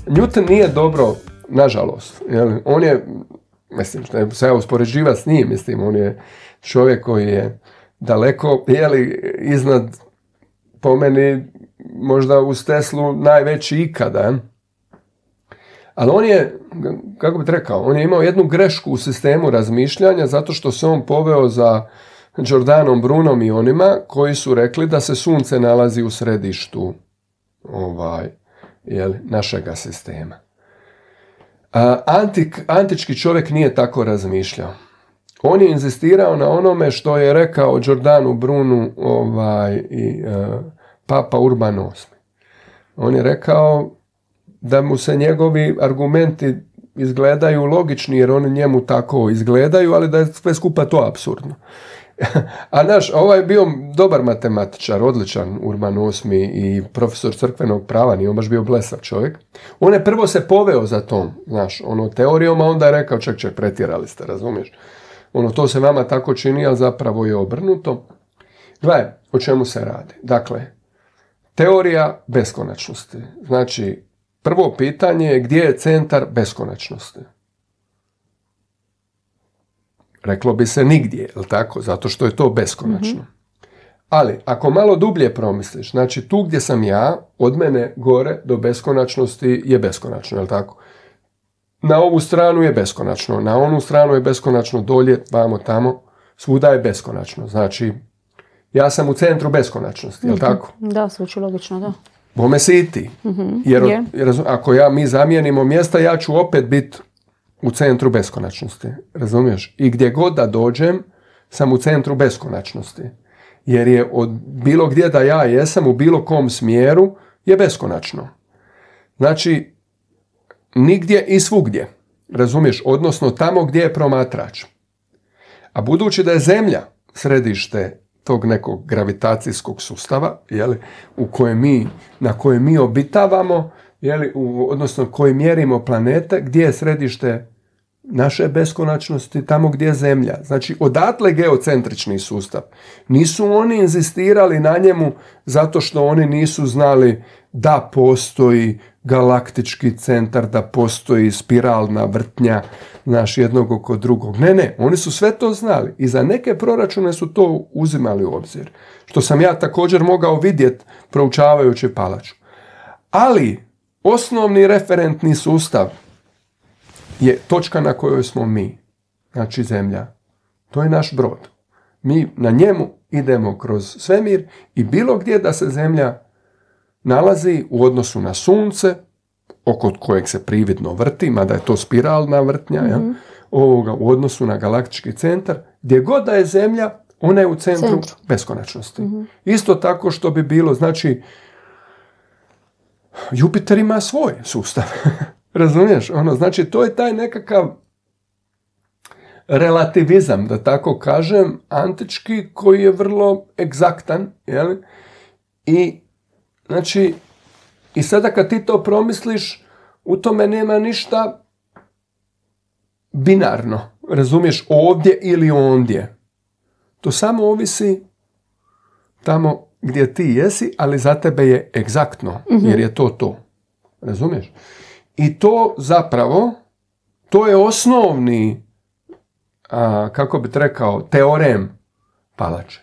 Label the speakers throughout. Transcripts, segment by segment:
Speaker 1: Newton nije dobro, nažalost. On je, mislim, što se ja uspoređiva s njim, mislim, on je čovjek koji je daleko, iznad, po meni, možda uz Teslu najveći ikada. Ali on je, kako bih rekao, on je imao jednu grešku u sistemu razmišljanja zato što se on poveo za Giordanom Brunom i onima koji su rekli da se sunce nalazi u središtu našega sistema. Antički čovjek nije tako razmišljao. On je inzistirao na onome što je rekao Giordanu Brunu i Papa Urban VIII. On je rekao da mu se njegovi argumenti izgledaju logični jer oni njemu tako izgledaju, ali da je sve skupa to apsurdno. A ovaj je bio dobar matematičar, odličan Urban VIII i profesor crkvenog prava, nije on baš bio blesav čovjek. On je prvo se poveo za tom, teorijom, a onda je rekao, ček, pretjerali ste, razumiješ? To se vama tako čini, ali zapravo je obrnuto. Gledaj, o čemu se radi? Dakle, teorija beskonačnosti. Znači, prvo pitanje je gdje je centar beskonačnosti? Reklo bi se nigdje, je li tako? Zato što je to beskonačno. Ali, ako malo dublje promisliš, znači tu gdje sam ja, od mene gore do beskonačnosti je beskonačno, je li tako? Na ovu stranu je beskonačno, na onu stranu je beskonačno, dolje, vamo, tamo, svuda je beskonačno. Znači, ja sam u centru beskonačnosti, je li tako?
Speaker 2: Da, zvuči logično, da.
Speaker 1: Bome si i ti. Jer ako mi zamijenimo mjesta, ja ću opet biti u centru beskonačnosti. Razumiješ? I gdje god da dođem, sam u centru beskonačnosti. Jer je od bilo gdje da ja jesam, u bilo kom smjeru, je beskonačno. Znači, nigdje i svugdje. Razumiješ? Odnosno tamo gdje je promatrač. A budući da je Zemlja središte tog nekog gravitacijskog sustava, na kojem mi obitavamo, odnosno koji mjerimo planete, gdje je središte naše beskonačnosti, tamo gdje je Zemlja. Znači, odatle geocentrični sustav. Nisu oni inzistirali na njemu zato što oni nisu znali da postoji galaktički centar, da postoji spiralna vrtnja jednog oko drugog. Ne, oni su sve to znali i za neke proračune su to uzimali u obzir. Što sam ja također mogao vidjeti proučavajući Palaču. Ali osnovni referentni sustav je točka na kojoj smo mi, znači Zemlja. To je naš brod. Mi na njemu idemo kroz svemir i bilo gdje da se Zemlja nalazi u odnosu na Sunce, oko kojeg se prividno vrti, mada je to spiralna vrtnja, u odnosu na galaktički centar, gdje god da je Zemlja, ona je u centru beskonačnosti. Isto tako što bi bilo, znači, Jupiter ima svoj sustav. Razumiješ? Znači, to je taj nekakav relativizam, da tako kažem, antički, koji je vrlo egzaktan, I, znači, i sada kad ti to promisliš, u tome nema ništa binarno. Razumiješ? Ovdje ili ondje. To samo ovisi tamo gdje ti jesi, ali za tebe je egzaktno, jer je to. Razumiješ? I to zapravo, to je osnovni, kako bi rekao, teorem Palače.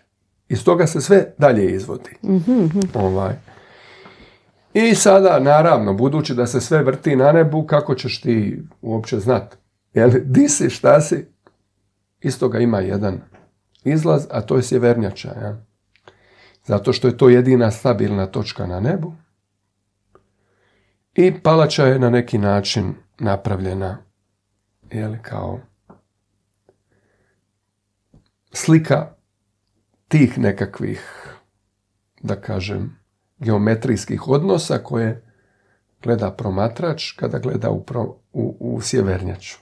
Speaker 1: Iz toga se sve dalje izvodi. I sada, naravno, budući da se sve vrti na nebu, kako ćeš ti uopće znati? Di si, šta si? Iz toga ima jedan izlaz, a to je sjevernjača. Ja? Zato što je to jedina stabilna točka na nebu. I Palača je na neki način napravljena kao slika tih nekakvih, da kažem, geometrijskih odnosa koje gleda promatrač kada gleda u sjevernjaču.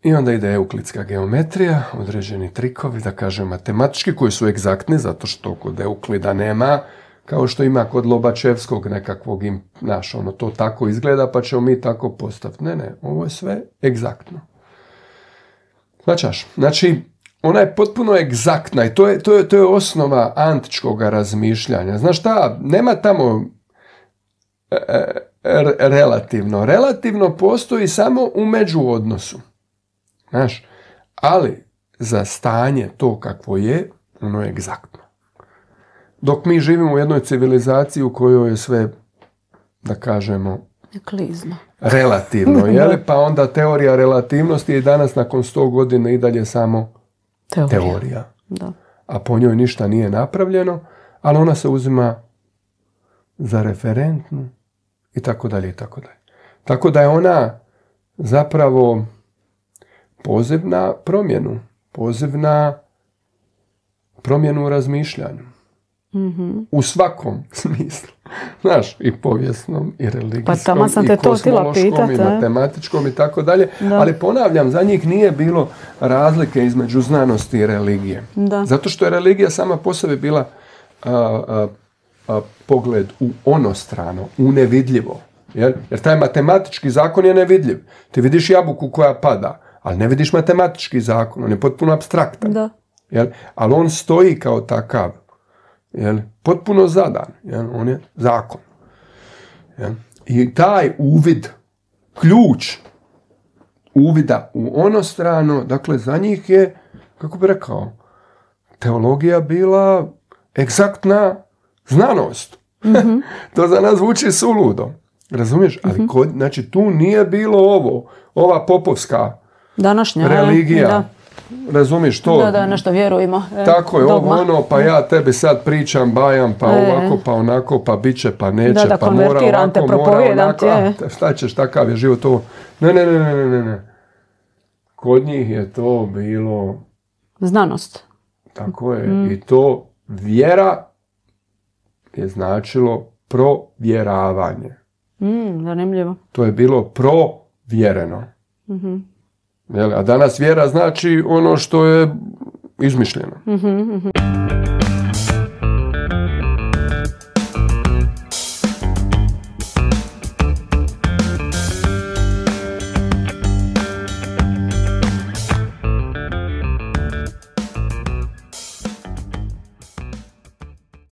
Speaker 1: I onda ide euklidska geometrija, određeni trikovi, da kažem, matematički, koji su egzaktni, zato što kod Euklida nema, kao što ima kod Lobačevskog nekakvog, to tako izgleda, pa ćemo mi tako postaviti. Ne, ovo je sve egzaktno. Znači, ona je potpuno egzaktna i to je osnova antičkog razmišljanja. Znaš šta, nema tamo relativno. Relativno postoji samo u međuodnosu. Znaš, ali za stanje to kakvo je, ono je egzaktno. Dok mi živimo u jednoj civilizaciji u kojoj je sve, da kažemo,
Speaker 2: klizno.
Speaker 1: Relativno, jel? Pa onda teorija relativnosti je danas nakon 100 godina i dalje samo teorija.
Speaker 2: Da.
Speaker 1: A po njoj ništa nije napravljeno, ali ona se uzima za referentnu i tako dalje i tako dalje. Tako da je ona zapravo poziv na promjenu. Poziv na promjenu u razmišljanju.
Speaker 2: Mm-hmm.
Speaker 1: U svakom smislu. Znaš, i povijesnom, i religijskom,
Speaker 2: i
Speaker 1: kosmološkom, i matematičkom i tako dalje. Ali ponavljam, za njih nije bilo razlike između znanosti i religije.
Speaker 2: Da.
Speaker 1: Zato što je religija sama po sebi bila pogled u onostrano, u nevidljivo. Jer taj matematički zakon je nevidljiv. Ti vidiš jabuku koja pada, ali ne vidiš matematički zakon. On je potpuno apstraktan.
Speaker 2: Da.
Speaker 1: Ali on stoji kao takav. Potpuno zadan. On je zakon. I taj uvid, ključ uvida u onostrano, dakle za njih je, kako bi rekao, teologija bila egzaktna znanost. Mm-hmm. To za nas zvuči suludo. Razumiješ? Ali znači tu nije bilo ova popovska
Speaker 2: današnja
Speaker 1: religija.
Speaker 2: Da.
Speaker 1: Razumiješ to?
Speaker 2: Da, nešto vjerujemo.
Speaker 1: Tako je, pa ja tebi sad pričam, bajam, pa ovako, pa onako, pa bit će, pa neće, pa mora ovako, mora onako. Šta ćeš, takav je život ovo. Ne. Kod njih je to bilo...
Speaker 2: Znanost.
Speaker 1: Tako je. I to vjera je značilo provjeravanje.
Speaker 2: Zanimljivo.
Speaker 1: To je bilo provjereno.
Speaker 2: Mm-hmm.
Speaker 1: A danas vjera znači ono što je izmišljeno.
Speaker 2: Mm-hmm.